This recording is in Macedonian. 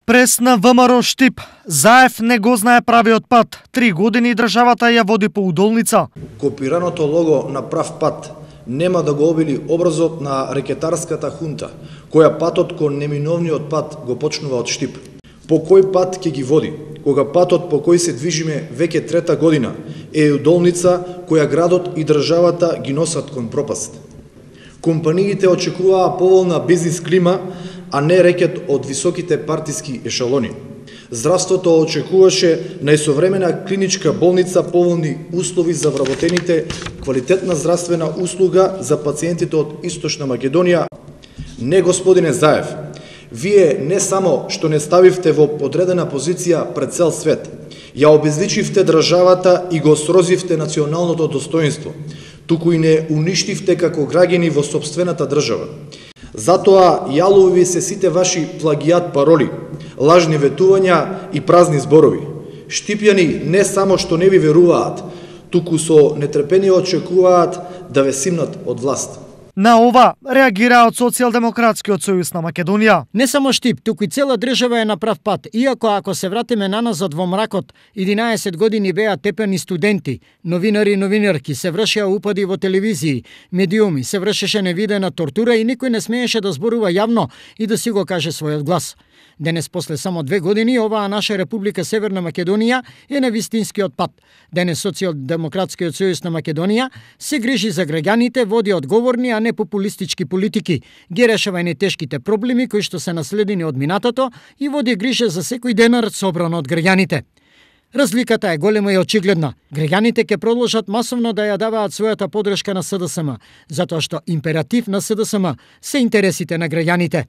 Прес на ВМРО Штип. Заев не го знае правиот пат. 3 години државата ја води по удолница. Копираното лого на прав пат нема да го обили образот на рекетарската хунта, која патот кон неминовниот пат го почнува од Штип. По кој пат ќе ги води, кога патот по кој се движиме веќе трета година е удолница која градот и државата ги носат кон пропаст. Компаниите очекуваа поволна бизнис клима, а не рекет од високите партиски ешалони. Здравството очекуваше најсовремена клиничка болница, поволни услови за вработените, квалитетна здравствена услуга за пациентите од Источна Македонија. Не, господине Заев, вие не само што не ставивте во подредена позиција пред цел свет, ја обезличивте државата и го срозивте националното достоинство, туку и не уништивте како граѓани во сопствената држава. Затоа јалови се сите ваши плагијат пароли, лажни ветувања и празни зборови. Штипјани не само што не ви веруваат, туку со нетрпение очекуваат да ве симнат од власт. На ова реагира од Социјалдемократскиот сојуз на Македонија. Не само Штип, туку и цела држава е на прав пат, иако ако се вратиме наназад во мракот, 11 години беа тепени студенти, новинари и новинарки, се вршеа упади во телевизии, медиуми, се вршеше невидена тортура и никој не смееше да зборува јавно и да си го каже својот глас. Денес, после само 2 години, оваа наша Република Северна Македонија е на вистинскиот пат. Денес Социјалдемократскиот сојуз на Македонија се грижи за граѓаните, води одговорни, а не популистички политики, ги решава и тешките проблеми кои што се наследени од минатото и води грижа за секој денар собран од граѓаните. Разликата е голема и очигледна. Граѓаните ќе продолжат масовно да ја даваат својата подршка на СДСМ, затоа што императив на СДСМ се интересите на граѓаните.